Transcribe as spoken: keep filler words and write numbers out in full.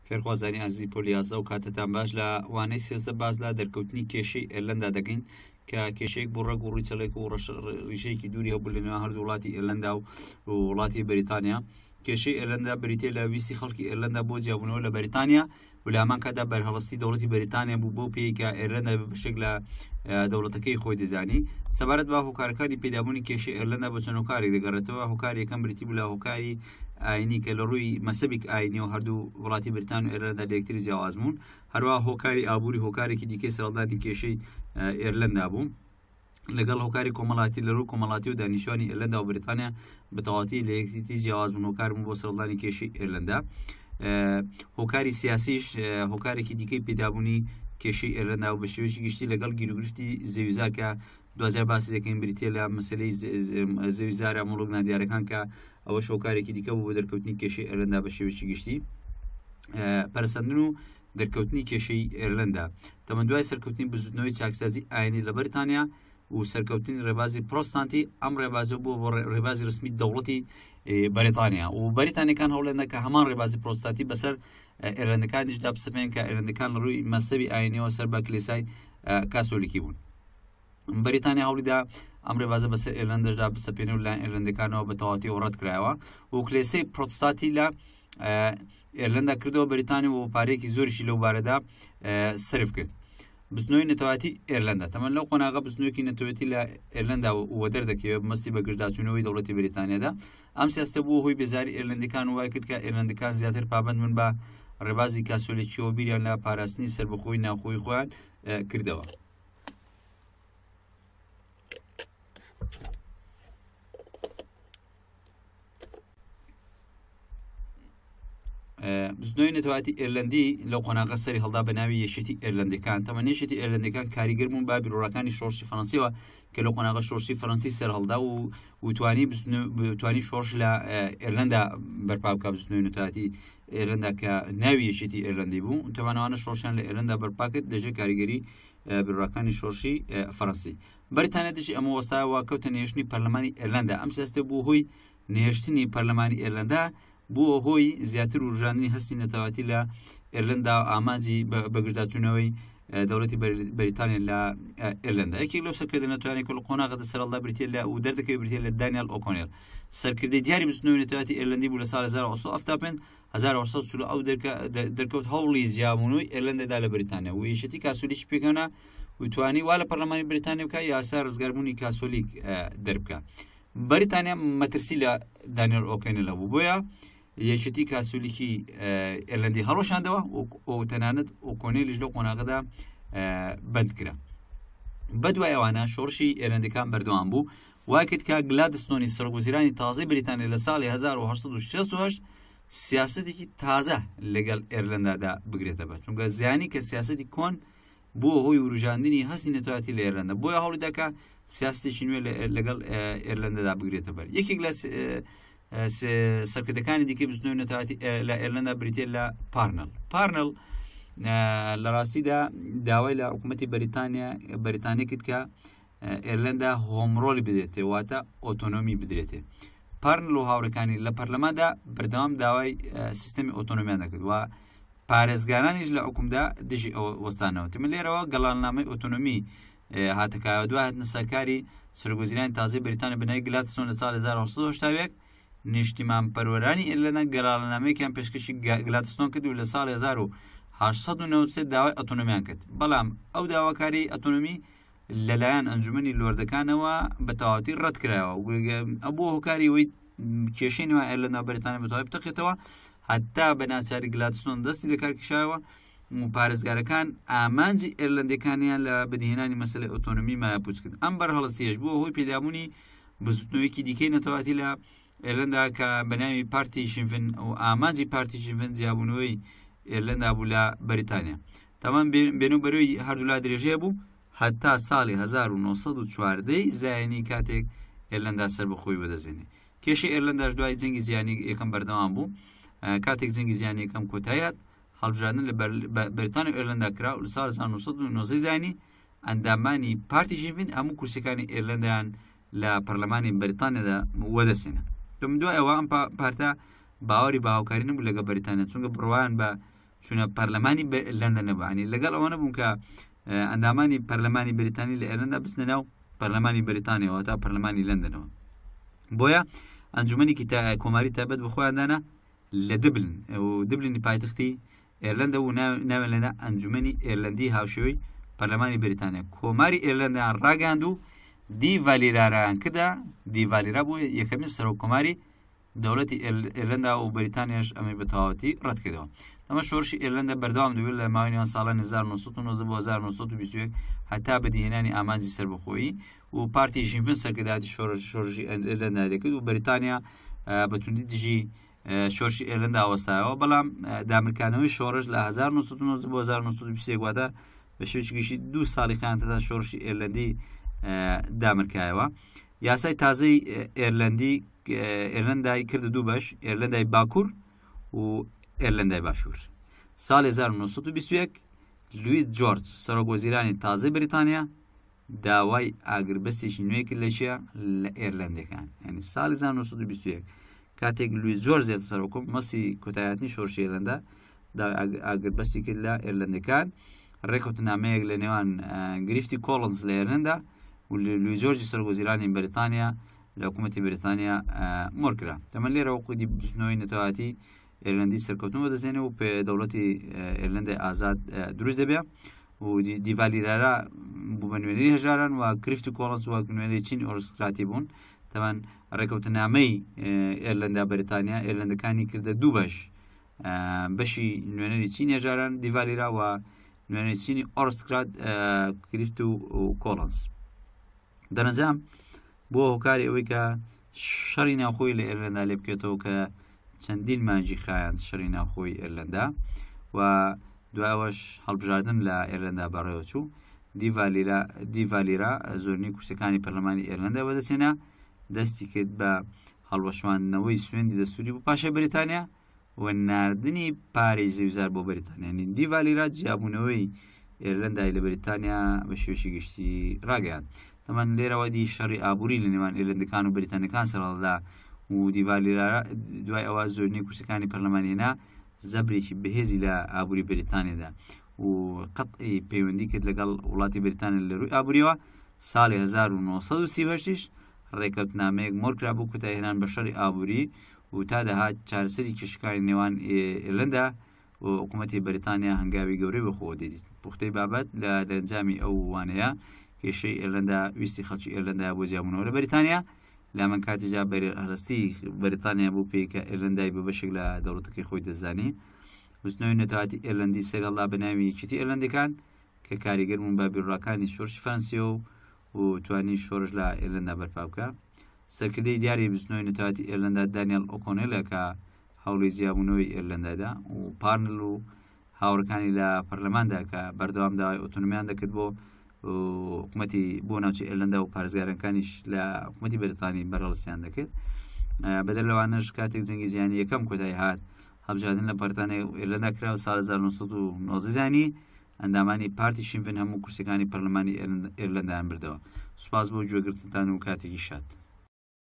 فێرخوازانی ئازیزی پۆلی یازدە و کاتتان باش. لە وانەی سێزدە باز لە دەرکەوتنی کێشەی ئێرلەندا دەکەین کە کێشەیەک بۆ ڕەگ و ڕیچەڵێک و ڕیشەیەکی دووری هەبوو لە نێوان هەردوو وڵاتی ئێرلەندا و وڵاتی بەریتانیا. کێشەی ئێرلەندا بریتیە لە ویستی خەڵکی ئێرلەندا بۆ جیابوونەوە لە بەریتانیا و لە هەمان کاتدا بەرهەڵستی دەوڵەتی بەریتانیا بوو بەو پێی کە ئێرلەندا بە بەشێک لە دەوڵەتەکەی خۆی دەزانی. سەبارەت بە هۆکارەکانی پەیدابوونی کێشەی ئێرلەندا بۆ چەند هۆکارێک دەگەڕێتەوە. هۆکاری یەکەم بریتی بوو لە هۆکاری ئاینی کە لە ڕووی مەسەبێک ئاینیەوە هەردوو وڵاتی بەریتانیا و ئێرلەندا لە یەکتری جیاواز بوون. هەروەها هۆکاری ئابووری هۆکارێکی دیکەی سەرهەڵدانی کێشەی ئێرلەندا بوو. لەگەڵ هۆکاری کۆمەڵاتی لە ڕووی کۆمەڵاتی و دانیشتوانی ئێرلەندا و بەریتانیا بە تەواوەتی لە یەکێتی جیاواز بوون، هۆکار بوون بۆ سەرهەڵدانی کێشەی ئێرلەندا. هۆکاری سیاسیش هۆکارێکی دیکەی پەیدابوونی کێشەی ئێرلەندا و بە شێوەیەکی گشتی لەگەڵ گیروگرفتی زەویزار کە دوجار باسی دەکەین بریتیە لە مەسلەی زەویزارە مڵک نادیارەکان کە ئەوەش هۆکارێکی دیکە بوو بۆ دەرکەوتنی کێشەی ئێرلەندا بە شێوەیەکی گشتی. پەرەسەندن و دەرکەوتنی کێشەی ئێرلەندا تەمەن دوای سەرکەوتنی بزوتنەوەی چاکسازی ئاینی لە بەریتانیا و سەرکەوتنی ڕێبازی پرۆستانتی، ئەم ڕێبازە بووە بۆ ڕێبازی ڕسمی دەوڵەتی بەریتانیا و بەریتانیەکان هەوڵێنە کە هەمان ڕێبازی پرۆستانتی بەسەر ئێرلەندەکانیشدا بسەپێن کە ئێرلەندەکان لە ڕووی مەسەبی ئاینیەوە سەر بە کلیسای کاسۆلیکی بوون. بەریتانیا هەوڵیدا ئەم ڕێبازە بەسەر ئێرلەندەشدا بسەپێنێ و لایەن ئێرلەندەکانەوە بە تەواوەتی ڕەت کرایەوە و کلێسەی پرۆتستانتی لە ئێرلەندا کردەوە بەریتانیا و پارەیەکی زۆریشی لەو بارەدا سەرف کرد. بزنەوەی نەتەوەتی ئێرلەندا تەمەن لەو قۆناغە بزنەوەیەکی نەتەوەتی لە ئێرلەندا وە دەردەکەوێت مەستی بە گشتداچوونەوەی دەوڵەتی بەریتانیادا. ئەم سیاستە بووە هۆی بێزاری ئێرلەندەکان و وای کرد کە ئێرلەندەکان زیاتر پابەند بن بە ڕێبازی کاسۆلیکیەوە بیریان لە پاراستنی سەربەخۆی ناوخۆی خۆیان کردەوە. بزنەوەی نەتەوەتی ئێرلەندی لەو قۆناغە سەری هەڵدا بە ناوی یەکێتی ئێرلەندەکان. تەمەن یەکێتی ئێرلەندەکان کاریگەر بوون بە بیرۆڕاکانی شۆڕشی فەڕەنسیەوە کە لەو قۆناغە شۆڕشی فەڕەنسی سەر هەڵدا و وتوانی توانی شۆڕش لە ئێرلەندا بەرپا بکات. بزنەوەی نەتەوەتی ئێرلەندا کە ناوی یەکێتی ئێرلەندی بوو، تەمانەوانە شۆڕشیان لە ئێرلەندا بەرپا کرد لەژێر کاریگەری بیرۆڕاکانی شۆڕشی فەڕەنسی. بەریتانیا دژی ئەمە وەستایەوە کەوتە نێشتنی پەرلەمانی ئێرلەندا. ئەم سیاستە بوو هۆی نێشتنی پەرلەمانی ئێرلەندا بووە هۆی زیاتر وروژاندنی هەستی نەتەوەتی لە ئێرلەندا و ئامانجی بەگشتداچوونەوەی دەوڵەتی بەریتانیا لە ئێرلەندا. یەکێک لەو سەرکردە نەتەوانەی کە لە قۆناغەدا سەرهەڵدا بریتیە لە و دەردەکەوێت بریتیە لە دانیال ئۆکۆنێل. سەرکردەی دیاری بزوتنەوەی نەتەوەتی ئێرلەندی بوو لە ساڵ هەزار و هەشت سەد و حەفتا و پێنج هەزار و هەشت سەد و چل و ئەو دەرکەوت هەوڵی جیابوونەوەی ئێرلەندادا لە بەریتانیا و یەکێتی کاسۆلیکی پێکهێنا و توانی وا لە پەرلەمانی بەریتانیا بکە یاسا ڕزگاربوونی کاسۆلیک دەربکە. بەریتانیا مەترسی لە دانیال ئۆکۆنێل هەبوو، بۆیە یەکێتی کاسۆلیکی ئێرلەندی هەڵوەشاندەوە و تەنانەت ئۆکۆنێلیش لەو قۆناغەدا بەند کرا. بەدوای ئەوانە شۆڕشی ئێرلەندەکان بەردەوام بوو، وای کرد کە گلادستۆنی سەرۆکوەزیرانی تازەی بەریتانیا لە ساڵی هەزار و هەشت سەد و شەست و هەشت سیاسەتێکی تازە لەگەڵ ئێرلەندادا بگرێتە بە، چونکە زیانی کە سیاسەتی کۆن بووە هۆی وروژاندنی هەستی نەتەوەتی لە ئێرلەندا، بۆیە هەوڵی کە سیاستێکی نوێ لەگەڵ ئێرلەندادا بگرێتە بەر. یەکێک لە سەرکردەکانی دیکەی بزنەوەی نەتەوەتی لە ئێرلەندا بریتیە لە پارنل. پارنل لە ڕاستیدا داوای لە حکوومەتی بەریتانیا بەریتانیا کرد کە ئێرلەندا home rule ی بدرێتێ، واتە ئۆتۆنۆمی بدرێتێ. پارنل و هاوڕەکانی لە پەرلەماندا بەردەوام داوای سیستەمی ئۆتۆنۆمیان دەکرد و پارێزگارانیش لە حکومدا دژی ئەوە وەستانەوە. تەمە لێرەوە گەڵاننامەی ئۆتۆنۆمی هاتەکایەوە. دوای هاتنە سەرکاری سەرۆکوەزیرانی تازەی بەریتانیا بە ناوی گلادستۆن لە ساڵی هەزار و هەشت سەد و هەشتا و یەک نیشتیمان پەروەرانی ئێرلەندا گەڵاڵنامەیەکیان پێشکەشی گلادستۆن کرد و لە ساڵی هەزار و هەشت سەد و نەوەد و سێ داوای ئۆتۆنۆمیان کرد. بەڵام ئەو داواکاری ئۆتۆنۆمی لەلایەن ئەنجومەنی لۆردەکانەوە بە تەواوەتی ڕەت کرایەوە. ئەو بووە هۆکاری ئەوەی کێشەی نێوان ئێرلەندا و بەریتانیا بە تەواوی بتەقێتەوە هەتا بە ناچاری گلادستۆن دەستی لە کار کشایەوە و پارێزگارەکان ئامانجی ئێرلەندەکانیان لە بەدیهێنانی مەسەلەی ئۆتۆنۆمی مایەپوچ کرد. ئەم بەرهەڵستیەش بووە هۆی پەیدابوونی بزوتنەوەیەکی دیکەی نەتەوەتی لە ئێرلەندا کە بە ناوی پارتی شینفن و ئامانجی پارتی شینفن جیابوونەوەی ئێرلەندا بوو لە بەریتانیا. تەمان بێن و بەرەوەی هەردوولا درێژەیە بوو هەتا ساڵی هەزار و نۆ سەد و چواردەی زایانی کاتێک ئێرلەندا سەربەخۆی بەدەستێنێ. کێشەی ئێرلەنداش دوای جەنگی جیهانی یەکەم بەردەوام بوو. کاتێک جەنگی جیهانی یەکەم کۆتایی هات، هەڵبژاردن لە بەریتانیا و ئێرلەندا کرا و لە ساڵی هەزار و نۆ سەد و نۆزدە زایانی ئەندامانی پارتی شینفن هەموو کورسیەکانی ئێرلەندایان لە پەرلەمانی بەریتانیادا وەدەستێنە. دوای ئەوە ئەم پارتە باوەڕی بە هاوکاری نەبوو لەگەڵ بەریتانیا، چونکە بڕوایان بە چونە پەرلەمانی ئێرلەندا نەبوو. لەگەڵ ئەوە نەبوون کە ئەندامانی پەرلەمانی بەریتانی لە ئێرلەندا بچنە ناو پەرلەمانی بەریتانیەوە تا پەرلەمانی لەندەنەوە. بۆیە ئەنجومەنێکی کۆماری تایبەت بە خۆیان دانا لە دبلن و دبلنی پایتەختی ئێرلەندا و ناویان لێنا ئەنجومەنی ئێرلەندی هاوشێوەی پەرلەمانی بەریتانیا. کۆماری ئێرلەندیان ڕاگەیاند و دیڤالیرایان کردە. دیڤالیرا بوو یەکەمین سەرۆک کۆماری دەوڵەتی ئێرلەندا و بەریتانیاش ئەمەی بە تەواوەتی ڕەت کردەوە. ئەمە شۆڕشی ئێرلەندا بەردەوام دەبێت لە ماوەی نێوان ساڵانی هەزار و نۆ سەد و نۆزدە بۆ هەزار و نۆ سەد و بیست و یەک هەتا بەدیهێنانی ئامانجی سەربەخۆیی و پارتی ژینفن سەرکردایەتی شۆڕشی ئێرلەندا دەکرد و بەریتانیا بە توندی دژی شۆڕشی ئێرلەندا وەستایەوە. بەڵام دامرکانەوەی شۆڕش لە هەزار و نۆ سەد و نۆزدە بۆ هەزار و نۆ سەد و بیست و یەک واتە بە شێوەیەکی گشتی دوو ساڵی خایاند تا شۆڕشی ئێرلەندی دامرکایەوە. یاسای تازەی ئێرلەندی ئێرلەندای کردە دوو بەش، ئێرلەندای باکوور و ئێرلەندای باشوور. ساڵی هەزار و نۆ سەد و بیست و یەک لوید جۆرج سەرۆک وەزیرانی تازەی بەریتانیا داوای ئاگربەستێکی نوێ کرد لە چیە؟ لە ئێرلەندەکان. یعنی ساڵی هەزار و نۆ سەد و بیست و یەک کاتێک لوید جۆرج زیاتر سەرۆکم مەسی کۆتایەتنی شۆڕشی ئێرلەندا داوای ئاگربەستی کرد لە ئێرلەندەکان. ڕێککەوتنامەیەک لە نێوان گریفتی کۆڵنز لە ئێرلەندا و لوید جۆرجی سەرۆک وەزیرانی بەریتانیا لە حکوومەتی بەریتانیا مۆر کرا. تەمەن لێرەوە قودی بزنەوەی نەتەوایەتی ئێرلەندی سەرکەوتن بەدەستێنێ و پێ دەوڵەتی ئێرلەندای ئازاد دروست دەبێ و دیڤالیرارا بوو بە نوێنەری هەژاران و گریفت و کۆڵنز وەک نوێنەری چینی ئۆرسکراتی بوون. تەمان ڕێککەوتنامەی ئێرلەندا بەریتانیا ئێرلەندەکانی کردە دوو بەش، بەشی نوێنەری چینی هەژاران دیڤالیرا و نوێنەری چینی ئۆرسکرات گریفت و کۆڵنز. دەرەنجام بۆ هۆکاری ئەوەی کە شەڕی ناوخۆی لە ئێرلەندا لێ بکێتەوە کە چەندین مانگی خایاند شەڕی ناوخۆی ئێرلەندا و دوایەوەش هەڵبژاردن لە ئێرلەندا بەڕێوەچوو. دیڤالیرا زۆرینەی کورسەکانی پەرلەمانی ئێرلەندا بەدەستهێنا، دەستی کرد بە هەڵوەشاندنەوەی سوێندی دەستوری بۆ پاشای بەریتانیا و ناردنی پارەی زەویزار بۆ بەریتانیا. یعنی دیڤالیرا جیابوونەوەی ئێرلەندای لە بەریتانیا بە شێوەیەکی گشتی ڕاگەیاند. تەمان لێرەوە دی شەڕی ئابووری لە نێوان ئێرلەندەکان و بەریتانیەکان سەرهەڵدا و دیڤالیرا دوای ئەوە زۆرینەی کورسەکانی پەرلەمانی هێنا زەبرێکی بەهێزی لە ئابووری بەریتانیادا و قەتعی پەیوەندی کرد لەگەڵ وڵاتی بەریتانیا لە ڕووی ئابووریەوە. ساڵی هەزار و نۆ سەد و سی و هەشتیش ڕێککەوتنامەیەک مۆر کرا بۆ کۆتاییهێنان بە شەڕی ئابووری و تا دەهات چارەسەری کێشەکانی نێوان ئێرلەندا و حکوومەتی بەریتانیا هەنگاوی گەورەی بەخۆوە دەدیت. پوختەی بابەت لە دەرەنجامی ئەو وانەیە کێشەی ئێرلەندا ویستی خەڵکی ئێرلەندا بۆ جیابوونەوە لە بەریتانیا لە من کاتیجا بەرهەڵستی بەریتانیا بوو پێی کە ئێرلەندای بە بەشێک لە دەوڵەتەکەی خۆی دەزانی. بزنەوەی نەتەوایەتی ئێرلەندی سەرهەڵدا بە ناوی یەکێتی ئێرلەندەکان کە کاریگەر بوون بە بیرڕاکانی شۆڕشی فەرەنسیەوە و توانی شۆڕش لە ئێرلەندا بەرپا بکە. سەرکردەی دیاری بزنەوەی نەتەوایەتی ئێرلەندا دانیێل ئۆکۆنێلە کە هەوڵی جیابوونەوەی ئێرلەندادا و پارنل و هاوڕەکانی لە پەرلەماندا کە بەردەوام داوای ئۆتۆنۆمیان دەکرد بۆ حکوومەتی بۆ ناوچەی ئێرلەندا و پارێزگارەکانیش لە حکوومەتی بەریتانی بەرهەڵستیان دەکرد. بەدەر لەوانەش کاتێک جەنگی جیهانی یەکەم کۆتایی هات هەڵبژاردن لە بەریتانیا و ئێرلەندا کرا و ساڵ هەزار و نۆ سەد و نۆزدە زانی ئەندامانی پارتی شینفن هەموو کورسەکانی پەرلەمانی ئێرلەندایان بردەوە. سوپاس بۆ گوێگرتنتان و کاتێکی شاد.